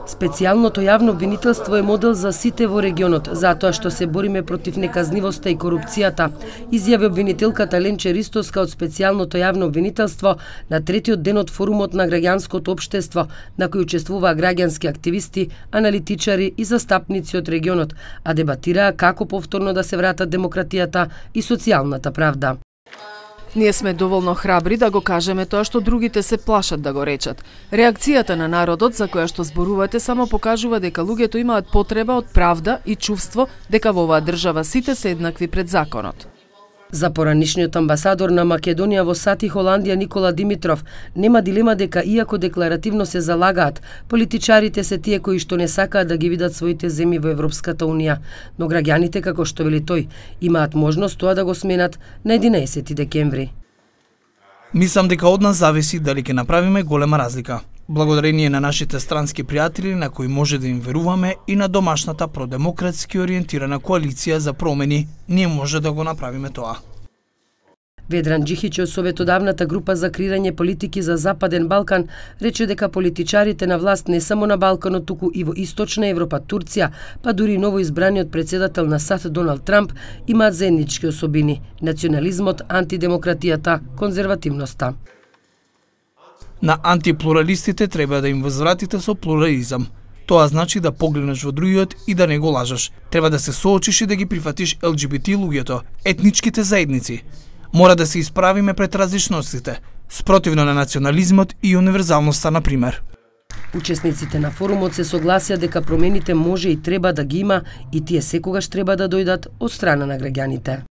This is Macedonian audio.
Специјалното јавно обвинителство е модел за сите во регионот, затоа што се бориме против неказнивоста и корупцијата, изјави обвинителката Ленче Ристоска од Специјалното јавно обвинителство на третиот ден од форумот на граѓанското општество, на кој учествуваа граѓански активисти, аналитичари и застапници од регионот, а дебатираа како повторно да се вратат демократијата и социјалната правда. Ние сме доволно храбри да го кажеме тоа што другите се плашат да го речат. Реакцијата на народот за која што зборувате само покажува дека луѓето имаат потреба од правда и чувство дека во оваа држава сите се еднакви пред законот. За поранишниот амбасадор на Македонија во САД и Холандија Никола Димитров нема дилема дека иако декларативно се залагаат, политичарите се тие кои што не сакаат да ги видат своите земји во Европската унија, но граѓаните, како што вели тој, имаат можност тоа да го сменат на 11 декември. Мислам дека од нас зависи дали ќе направиме голема разлика. Благодарение на нашите странски пријатели на кои може да им веруваме и на домашната продемократски ориентирана коалиција за промени, ние може да го направиме тоа. Ведран Џихич од советодавната група за креирање политики за Западен Балкан рече дека политичарите на власт не само на Балканот, туку и во Источна Европа, Турција, па дури новоизбраниот председател на САД Доналд Трамп имаат заеднички особини: национализмот, антидемократијата, конзервативноста. На антиплуралистите треба да им возвратите со плурализам. Тоа значи да погледнеш во другиот и да не го лажеш. Треба да се соочиш и да ги прифатиш ЛГБТ луѓето, етничките заедници. Мора да се исправиме пред различностите, спротивно на национализмот и универзалноста, на пример. Учесниците на форумот се согласија дека промените може и треба да ги има и тие секогаш треба да дојдат од страна на граѓаните.